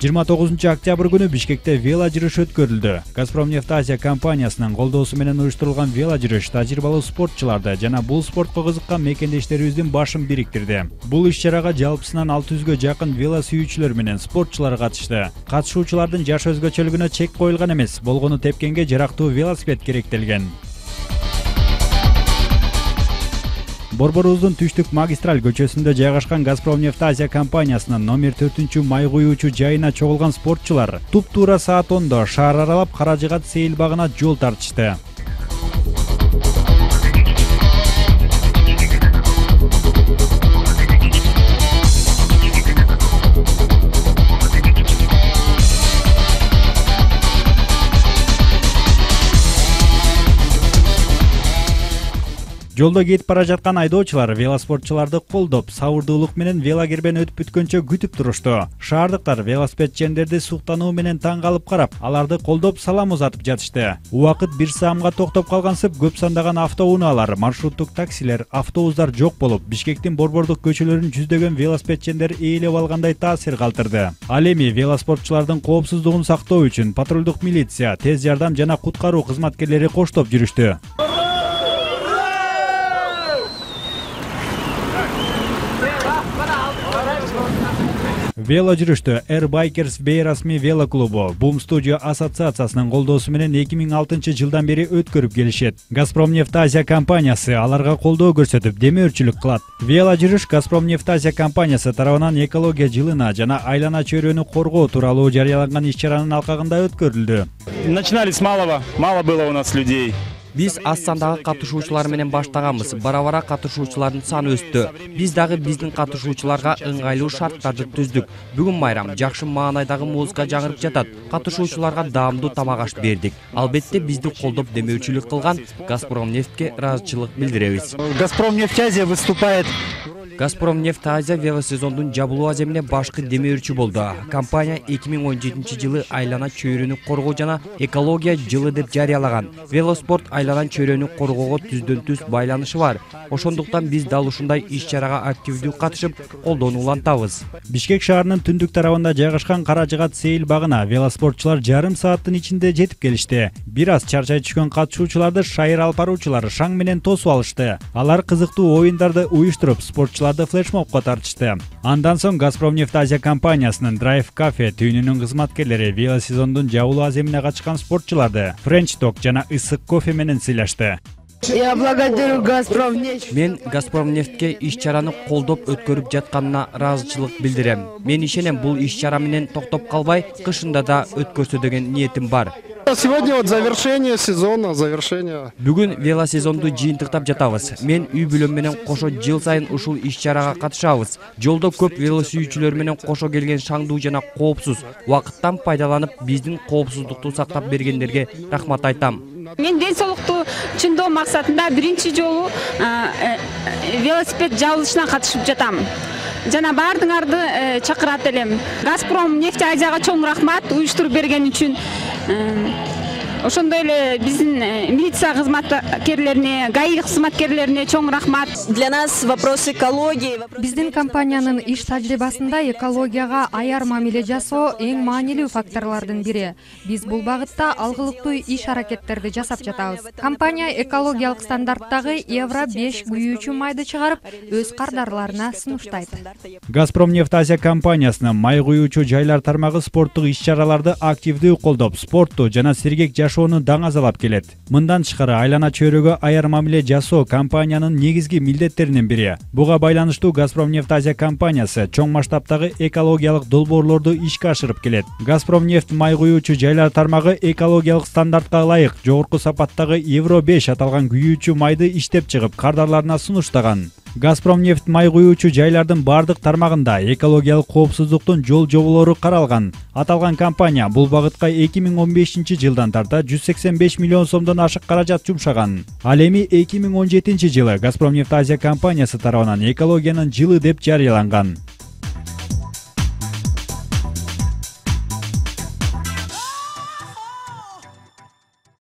29 күнү Бишкекте вело жүрүш өткөрүлдү. Газпромнефть Азия компаниясынын колдоосу менен уюштурулган вело жүрүш тажрыйбалуу спортчуларды жана бул спортко кызыккан мекендештерибиздин башын бириктирди. Бул иш-чарага жалпысынан 600гө жакын вело сүйүүчүлөр менен спортчулар катышты. Катышуучулардын жаш өзгөчөлүгүнө чек коюлган эмес, болгону тепкенге жарактуу велосипед керектелген. Борборубуздун түштүк магистраль көчөсүндө жайгашкан Газпромнефть Азия компаниясынын номер 4 май куюучу жайына чогулган спортчулар туп-туура саат 10-до шаар аралап Каражыгат сейил багына жол тартышты. Жолдо кетип бара жаткан айдоочулар велоспортчуларды колдоп, сабырдуулук менен велогербен өтүп бүткөнчө күтүп турушту. Шаардыктар велосипедчендерди суктануу менен таң калып карап, аларды колдоп салам узатып жатышты. Убакыт 1 саамга токтоп калгансып, көп сандаган автоунаалар, маршруттук таксилер, автобустар жок болуп, Бишкектин борбордук көчөлөрүн жүздөгөн велосипедчендер ээлеп алгандай таасир калтырды. Ал эми велоспортчулардын коопсуздугун сактоо үчүн патрулдук милиция, тез жардам жана куткаруу кызматкерлери коштоп жүрүштү. Вело жүрүштө Air Bikers бейрасмий вело клубу Boom Studio ассоциациясынын колдоосу менен 2006 жылдан бери өткөрүп келишет. Газпромнефть Азия компаниясы аларга колдоо көрсөтүп, демөөрчүлүк кылат. Вело жүрүш Газпромнефть Азия компаниясы тарабынан экология жылына жана айлана чөйрөнү коргоо тууралуу жарыяланган иш-чаранын алкагында өткөрүлдү. Начинали с малого, мало было у нас людей. Биз аз сандагы катышуучулар менен баштаганбыз. Бара-бара катышуучулардын саны өстү. Биз дагы биздин катышуучуларга ыңгайлуу шарттарды түздүк. Бүгүн майрам, жакшы маанайдагы музыка жаңырып жатат. Катышуучуларга даамдуу тамак аш бердик. Албетте бизди колдоп демөөрчүлүк кылган Газпромнефтьке ыраазычылык билдиребиз. Газпромнефть Азия выступает. Газпромнефть Азия велосезондун жабылуу аземине башкы демөөрчү болду. Компания 2017 жылы айлана чөйрөнү коргоо жана экология жылы деп жарыялаган. Велоспорт айлана чөйрөнү коргоого түздөн-түз байланышы бар. Ошондуктан биз дал ушундай иш-чарага активдүү катышып, колдоону улантабыз. Бишкек шаарынын түндүк тарабында жайгашкан Каражыгат сейил багына велоспортчулар жарым сааттын ичинде жетип келишти. Бир аз чарчай түшкөн катышуучуларды шайыр алып баруучулар шаң менен тосуп алышты. Алар кызыктуу оюндарды уюштуруп, спортчуларды флешмобко тартышты. Андан соң Газпромнефть Азия компаниясынын Drive Cafe түйүнүнүн кызматкерлери велосезондун жабылуу аземине катышкан спортчуларды French Talk жана ысык кофе менен сыйлашты. Я благодарю Газпромнефть. Мен Газпромнефтьке иш-чараны колдоп өткөрүп жатканына ыраазычылык билдирем. Мен ишенем, бул иш-чара менен токтоп калбай, кышында да өткөрсө деген ниетим бар. Сегодня вот завершение сезона, завершение. Бүгүн велосезонду жыйынтыктап жатабыз. Мен үй бүлөм менен кошо жыл сайын ушул иш-чарага катышабыз. Жолдо көп велосүйүүчүлөр менен кошо келген шаңдуу жана коопсуз. Убакыттан пайдаланып, биздин коопсуздукту сактап бергендерге рахмат айтам. Мен ден соолукту чыңдоо максатында биринчи жолу велосипед жабылышына катышып жатам. Жана баардыгыңарды чакырат элем. Газпромнефть Азияга чоң рахмат уюштуруп берген үчүн. Ошондой эле биздин милиция кызматкерлерине, ГАИ кызматкерлерине чоң рахмат. Для нас вопрос экологии. Биздин компаниянын иш тажрыйбасында экологияга аяр мамиле жасоо эң маанилүү факторлордун бири. Биз бул багытта алгылыктуу иш-аракеттерди жасап жатабыз. Компания экологиялык стандарттагы Евро 5 күйүүчү майды чыгарып, өз кардарларына сунуштайт. Газпромнефть Азия компаниясынын май куюучу жайлар тармагы спорттук иш-чараларды активдүү колдоп, спортту жана сергек жашоону даңазалап келет. Мындан тышкары айлана чөйрөгө аяр мамиле жасоо компаниянын негизги милдеттеринин бири. Буга байланыштуу Газпромнефть Азия компаниясы чоң масштабтагы экологиялык долбоорлорду ишке ашырып келет. Газпромнефть май куюучу жайлар тармагы экологиялык стандартка ылайык жогорку сапаттагы Евро 5 аталган күйүүчү майды иштеп чыгып, кардарларына сунуштаган. Газпромнефть май куюучу жайлардын бардык тармагында экологиялык коопсуздуктун жол жоболору каралган. Аталган компания бул багытка 2015 жылдан тарта 185 миллион сомдон ашык каражат жумшаган. Ал эми 2017 жылы Газпромнефть Азия компаниясы тарабынан экологиянын жылы деп жарыяланган.